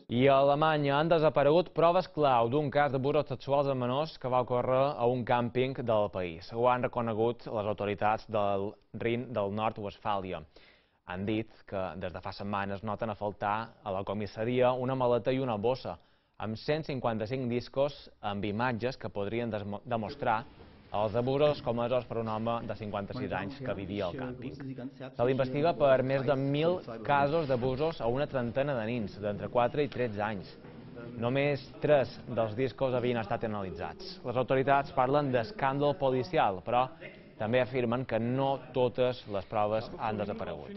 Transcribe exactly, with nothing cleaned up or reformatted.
I a Alemanya han desaparegut proves clau d'un cas d'abusos sexuals amb menors que va ocórrer a un càmping del país. Ho han reconegut les autoritats del Rin del Nord-Westfàlia. Han dit que des de fa setmanes noten a faltar a la comissaria una maleta i una bossa amb cent cinquanta-cinc discos amb imatges que podrien demostrar els abusos comesos per un home de cinquanta-sis anys que vivia al càmping. Se l'investiga per més de mil casos d'abusos a una trentena de nins, d'entre quatre i tretze anys. Només tres dels discos havien estat analitzats. Les autoritats parlen d'escàndol policial, però també afirmen que no totes les proves han desaparegut.